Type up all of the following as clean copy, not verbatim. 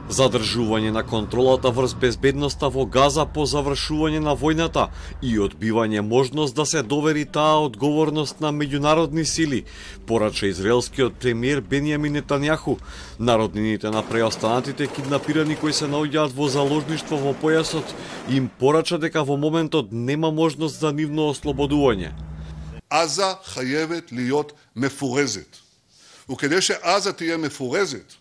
Задржување на контролата врз безбедноста во Газа по завршување на војната и одбивање можност да се довери таа одговорност на меѓународни сили, порача израелскиот премиер Бенјамин Нетањаху. Народнините на преостанатите киднапирани кои се наоѓаат во заложништво во појасот им порача дека во моментот нема можност за нивно ослободување. עזה חייבת להיות מפורזת. וכדי שעזה תהיה מפורזת,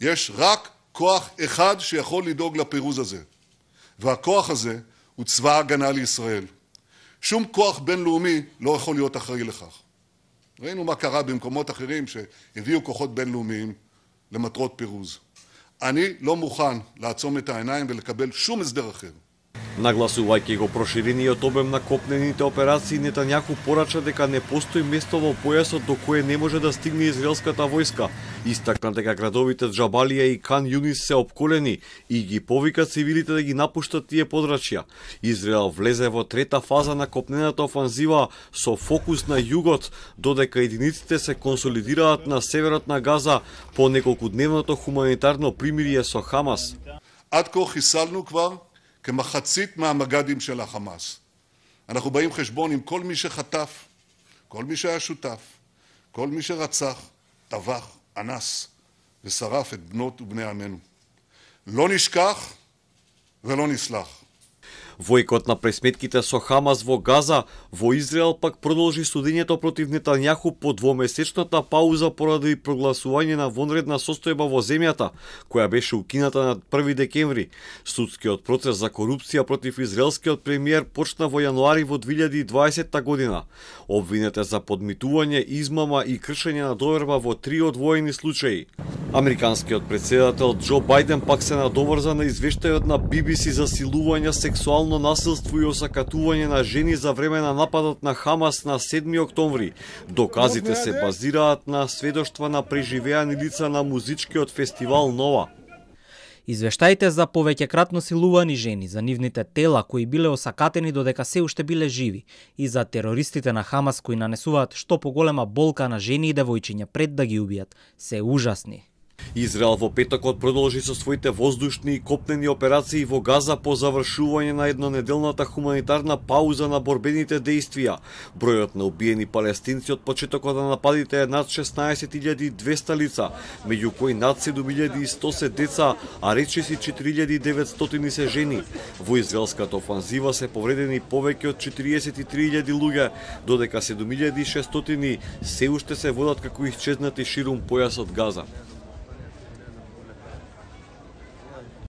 יש רק כוח אחד שיכול לדאוג לפירוז הזה. והכוח הזה הוא צבא ההגנה לישראל. שום כוח בינלאומי לא יכול להיות אחראי לכך. ראינו מה קרה במקומות אחרים שהביאו כוחות בינלאומיים למטרות פירוז. אני לא מוכן לעצום את העיניים ולקבל שום הסדר אחר. Нагласувајќи го проширениот обем на копнените операции, Нетањаху порача дека не постои место во појасот до кое не може да стигне израелската војска. Истакна дека градовите Џабалија и Кан Јунис се опколени и ги повика цивилите да ги напуштат тие подрачја. Израел влезе во трета фаза на копнената офанзива со фокус на југот, додека единиците се консолидираат на северот на Газа по неколкудневното хуманитарно примирие со Хамас. עד כה חיסלנו כבר כמחצית מהמג"דים של החמאס. אנחנו באים חשבון עם כל מי שחטף, כל מי שהיה שותף, כל מי שרצח, טבח, אנס ושרף את בנות ובני עמנו. לא נשכח ולא נסלח. Војкот на пресметките со Хамас во Газа, во Израел пак продолжи судењето против Нетањаху по двомесечната пауза поради прогласување на вонредна состојба во земјата, која беше укината на 1 декември. Судскиот процес за корупција против израелскиот премиер почна во јануари во 2020 година. Обвинет е за подмитување, измама и кршење на доверба во 3 одвоени случаи. Американскиот претседател Џо Бајден пак се надоврза на извештајот на BBC за силување, сексуално насилство и осакатување на жени за време на нападот на Хамас на 7 октомври. Доказите се базираат на сведоштва на преживеани лица на музичкиот фестивал Нова. Извештаите за повеќекратно силувани жени, за нивните тела кои биле осакатени додека се уште биле живи и за терористите на Хамас кои нанесуваат што поголема болка на жени и девојчиња пред да ги убијат, се ужасни. Израел во петокот продолжи со своите воздушни и копнени операции во Газа по завршување на еднонеделната хуманитарна пауза на борбените дејствија. Бројот на убиени палестинци од почетокот на нападите е над 16.200 лица, меѓу кои над 7.100 се деца, а речиси 4.900 се жени. Во израелската офанзива се повредени повеќе од 43.000 луѓе, додека 7.600 се уште се водат како исчезнати ширум појасот Газа.